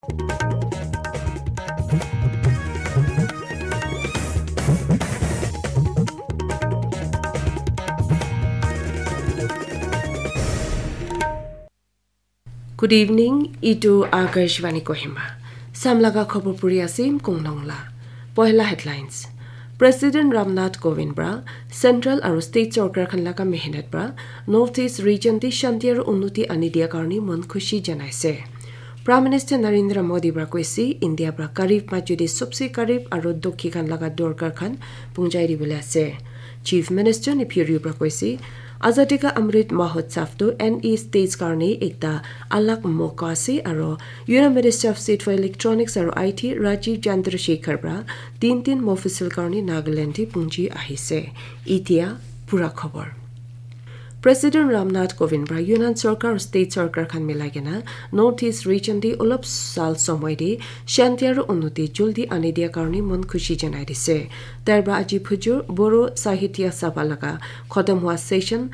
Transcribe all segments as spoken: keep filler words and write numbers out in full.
Good evening, itu Akashvani Kohima. Samlaga khobor puri asim konglong la. Pohela headlines. President Ramnath Kovind pra Central aru State Sorkar khan laga mehnat pra North East region te shanti aru unnoti ani dia karni mon khushi janaise. Prime Minister Narendra Modi pra koise India pra karib majudi sobse karib aru dukhi khan laga dorkar khan pungjai dibole ase. Chief Minister Neiphiu Rio pra koise Azadi Ka Amrit Mahotsav tu N E states karni ekta alag moka ase aru Union Minister of State for Electronics aru I T Rajiv Chandrasekhar pra tin tin mofisil karni Nagaland te pungji ahise. Itia pura khobor. President Ramnath Kovind pra Union Sorkar aru State Sorkar khan milai kena North East region te olop sal somoi te shanti aru unnoti juldi ani dia karni mon khushi janai dise. Tair pra aji phujur Boro Sahitya Sabha laga khotom hua session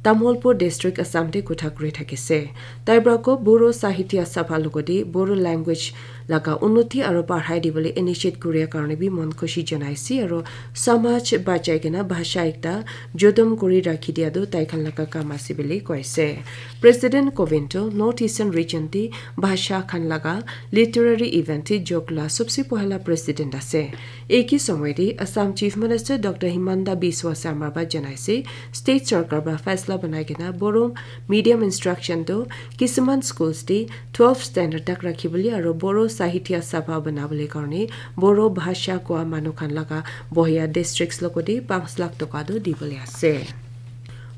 Tamolpur District Assam te kotha kuri thakise. Tair pra ko Boro Sahitya Sabha logodi Boro language laga unnoti aru padhai dibole initiate kuria karne bi mon khushi janaise aru samaj bachai kena bhasha ekta jodom kuri rakhi dia tu tai khan laga kam ase bole koise. President Kovind tu North Eastern region te bhasha khan laga literary event te jog la sobse pohela president ase. Eki somoi te Assam Chief Minister Doctor Himanta Biswa Sarma ba janaise, State Sorkar ba faisla banai kena Boro medium instruction tu kisuman schools te twelve standard tak rakhi bole aru Boro Sahitya Sabha bana bole karne Boro bhasha koa manu khan laga bohia districts logodi panch lakh toka tu dibole ase.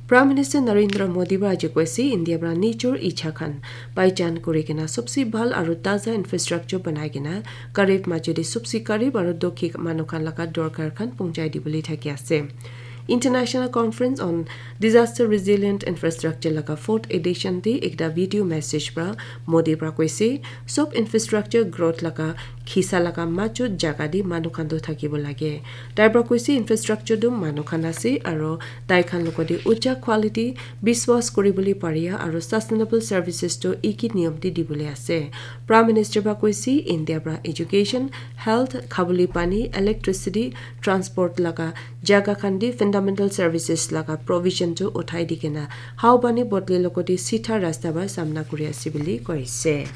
Prime Minister Narendra Modi pra aji koise India pra nijor icha khan paijan kuri kena sobse bhal aru taza infrastructure banai kena karib majudi sobse karib aru dukhi manu khan laga dorkar khan pungjai dibole thaki ase. International Conference on Disaster Resilient Infrastructure laga fourth edition te ekta video message pra Modi pra koise sob infrastructure growth laga khisa laga majot jaga te manu khan tu thakibo lage. Tai pra koise infrastructure tu manu khan ase aru tai khan logodi ucha quality biswas kuribole paria aru sustainable services tu eki niyom te dibole ase. Prime Minister pra koise India pra education, health, khabole pani, electricity, transport laga jaga khan te fundamental services laga provision tu uthai di kena hao pani bodle logodi sitha rasta ba samna kuri ase bole koise.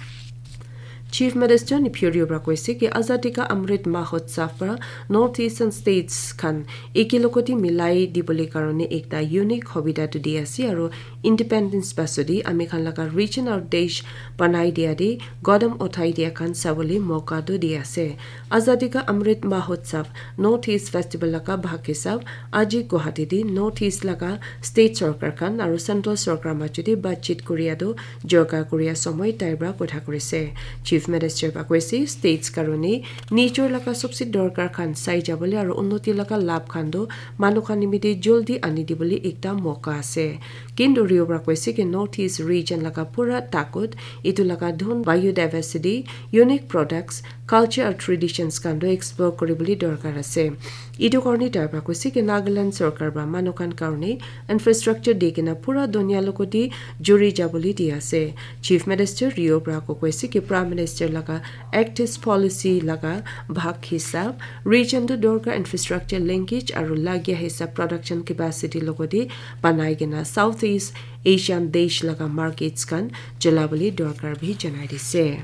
Chief Minister Neiphiu Rio pra koise ki Azadi Ka Amrit Mahotsav pra North Eastern states khan eki logoti milai dibole karone ekta unique hobida tu di ase aru independence pasodi ami khan laga region aru desh banai dia de godam uthai dia khan sabole moka tu di ase. Azadi Ka Amrit Mahotsav North East Festival laga bhag hisab aji Guwahati te North East laga state sorkar khan aru central sorkar majodi batchit kuria tu jorkar kuria somoi tai pra kotha kurise. Chief Minister pra koise states karone nijor laga sobse dorkar khan sai jabole aru unnoti laga labh khan tu manu khan nimite joldi ani dibole ekta moka ase. Kintu Rio pra koise ki North East region laga pura takut etu laga dhun biodiversity, unique products, culture aru traditions khan tu explore kuribole dorkar ase. Etu karne tai pra koise ki Nagaland sorkar pra manu khan karne infrastructure di kena pura dunia logoti juri jabole di ase. Chief Minister Rio pra ko koise ki Prime Minister laga active policy laga bhag hisab region tu dorkar infrastructure linkage aru lagia hisab production capacity logoti banai kena South East Asian desh laga markets khan cholabole dorkar bi janai dise.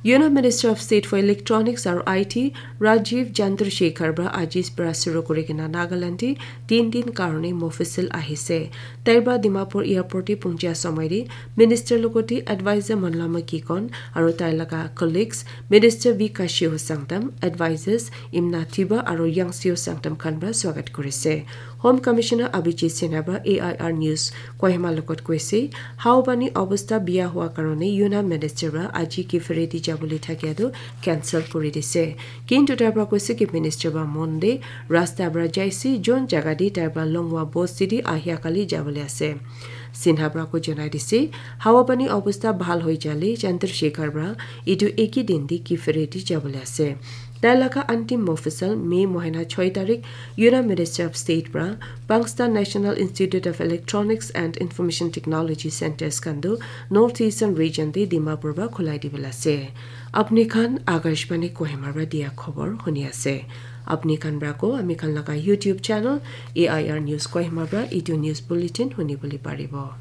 Union Minister of State for Electronics aru I T Rajiv Chandrasekhar pra aji pra shuru kuri kena Nagaland te tin din karone mofisil ahise. Tai pra Dimapur airport te punjia somoi te minister logoti advisor Monlama Kikon aru tai laga colleagues Minister V Kashiho Sangtam, advisors Imna Thiba aru Yangsio Sangtam khan pra swagat kurise. Home Commissioner Abhijit Sinha pra A I R News Kohima logot koise, hao pani obostha biya hua karone Union Minister pra aji ki ferry di jabole thakia tu cancel kuri dise. Kintu tai pra koise ki minister pra Monday rasta pra jaise, jon jaga di tai pra longwa bosti di ahia kali jabole ase. Sinha pra ko janai dise, hawa pani obostha bhal hoi jale Chandrasekhar pra etu eki din di ki ferry di jabole ase. Tai laga antim mofisal May mohina choi tarik Union Minister of State pra Pangsta National Institute of Electronics and Information Technology Centers khan tu North Eastern Region te Dimapur pra khulai dibole ase. Apni khan Akashvani Kohima pra dia khobor huni ase. Apni khan pra ko ami khan laga YouTube channel A I R News Kohima pra itu news bulletin huni bole paribo.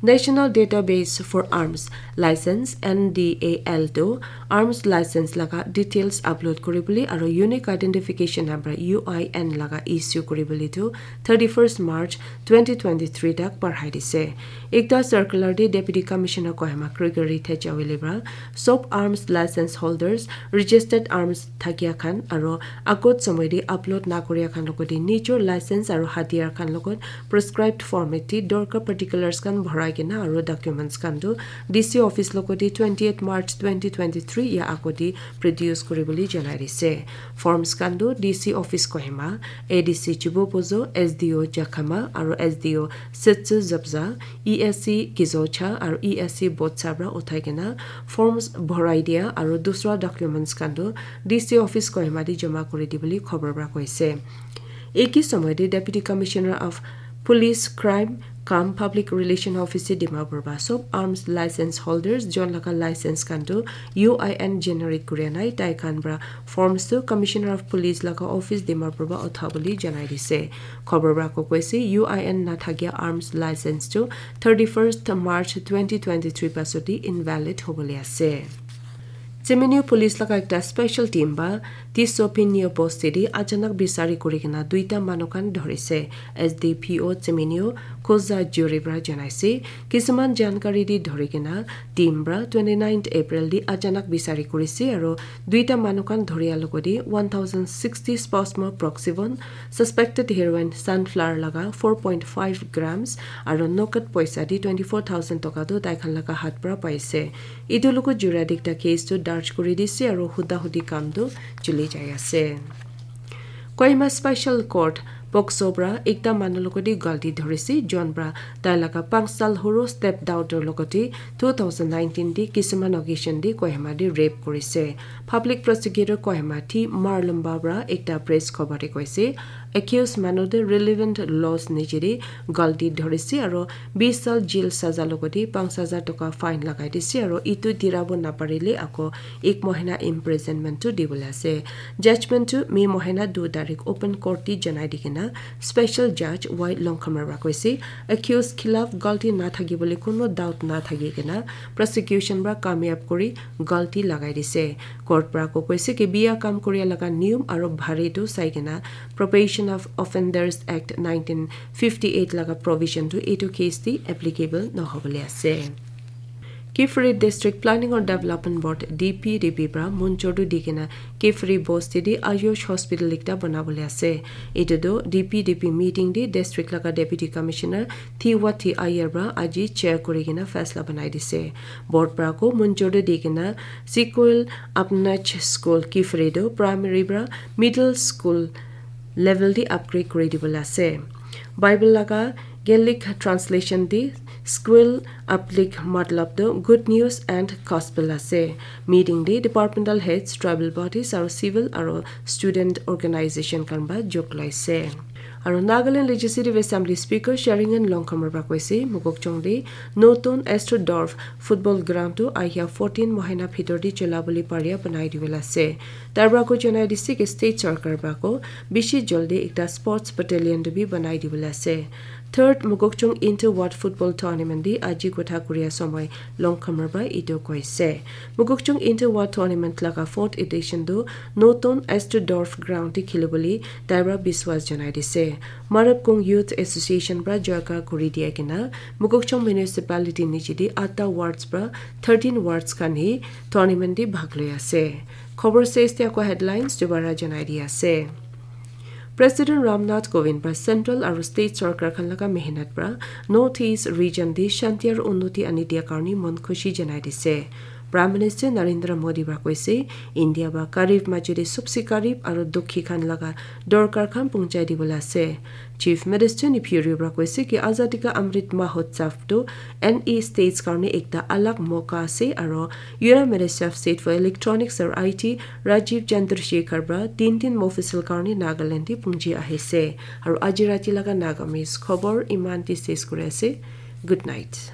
National Database for Arms License, N D A L, tu arms license laga details upload kuribole aro unique identification number, U I N, laga issue kuribole tu thirty-first March twenty twenty-three tak barhai dise. Ekta circular te Deputy Commissioner Kohima Gregory Thechawele pra sob arms license holders, registered arms thakia khan aro agot somoy te upload na kuria khan logote nijor license aro hatiyar khan logot prescribed format te dorkar particulars khan bhorai kena aro documents khan tu D C office logote twenty-eighth March twenty twenty-three ya agote produce kuribole janai dise. Forms khan tu D C office Kohima, A D C Chibopozo, S D O Jakhama aro S D O Setsu Zabza, E S C Kizocha aro E S C Botsa pra uthai kena forms bhorai dia aro dusra documents khan tu D C office Kohima te jama kuri dibole khobor pra koise. Eki somoy te Deputy Commissioner of Police Crime cum Public Relation Office Dimapur pra sob arms license holders jon laga license khan tu U I N generate kuria nai tai khan pra forms tu Commissioner of Police laga office Dimapur pra uthabole janai dise. Khobor pra ko koise U I N nathakia arms license tu thirty-first March twenty twenty-three pasot te invalid hobole ase. Tseminyu police laga ekta special team ba Tisopinyo bosti te achanak bisari kuri kena duita manu khan dhorise. S D P O Tseminyu Khoza Juri pra janaise. Kisuman jankari te dhori kena team pra twenty-ninth April te achanak bisari kurise aro duita manu khan dhoria logote one thousand sixty Spasmo Proxivon, suspected heroin sunflower laga four point five grams aro nokat poisa te twenty-four thousand toka tu tai khan laga hat pra paise. Itu logo jura te ekta case tu darj kuri dise aro huda hudi kam tu chuli jai ase. Kohima Special Court POCSO pra ekta manu logote galti dhorise, jon pra tai laga panch sal huru step daughter logote two thousand nineteen te kisuman occasion te Kohima te rape kurise. Public Prosecutor Kohima T Marlumba pra ekta press khobor te koise, accused manu te relevant laws niche te galti dhorise aro bish sal jail saza logote panch hajar toka fine lagai dise aro itu dirabo naparile ako ek mohina imprisonment tu dibole ase. Judgment tu May mohina du tarik open court te janai dikena special judge Y Longkhamar pra koise, accused khilaf galti nathaki bole kono doubt nathaki kena prosecution pra kamyab kuri galti lagai dise. Court pra ko koise ki biya kam kuria laga niyom aro bhari tu sai kena Probation of Offenders Act nineteen fifty-eight laga provision tu etu case te applicable nohobole ase. Kiphire District Planning or Development Board, D P D P pra munjor tu dikena Kiphire bosti te Ayush Hospital ekta banabole ase. Etu tu D P D P meeting te district laga Deputy Commissioner Thiwati Ayer pra aji chair kuri kena faisla banai dise. Board pra ko munjor tu dikena Sequel Apnach School Kiphire tu primary pra middle school level te upgrade kuri dibole ase. Bible laga Gaelic translation te Squil Aplik matlab tu good news and gospel ase. Meeting te departmental heads, tribal bodies aro civil aro student organization khan ba jog laise. Aro Nagaland Legislative Assembly Speaker Sharingan Longkhamar pra koise, Mokokchung te notun Astrodorf football ground tu ahia fourteen mohina bhitor te chola bole paria banai dibole ase. Tar pra ko janai dise ki state sarkar pra ko bishi jaldi ekta sports battalion tu bi banai dibole ase. Third Mokokchung Inter Ward Football Tournament te aji kotha kuria somoi Longkhamar pra etu koise. Mokokchung Inter Ward Tournament laga fourth edition tu notun Astrodorf ground te khilibole tai pra biswas janai dise. Marabkung Youth Association pra jaga kuri dia kena Mokokchung Municipality niche te atta wards pra thirteen wards khan hi tournament te bhag loi ase. Khobor ses te ako headlines dobara janai di ase. President Ramnath Kovind pra central aro state sarkar khan laga mehnat pra North East region te shanti aro unnoti ani dia karne mon khushi janai dise. Prime Minister Narendra Modi pra koise, India ba karib majuri subse karib aro dukhi khan laga dorkar khan pungchai dibole ase. Chief Minister Neiphiu Rio pra koise ki Azadi Ka Amrit Mahotsav tu N E states karne ekta alag moka ase aro Union Minister of State for Electronics aro I T Rajiv Chandrasekhar pra tin tin mofusal karne Nagaland te pungji ahise. Aro aji rati laga Nagamese khobor iman te ses kuri ase. Good night.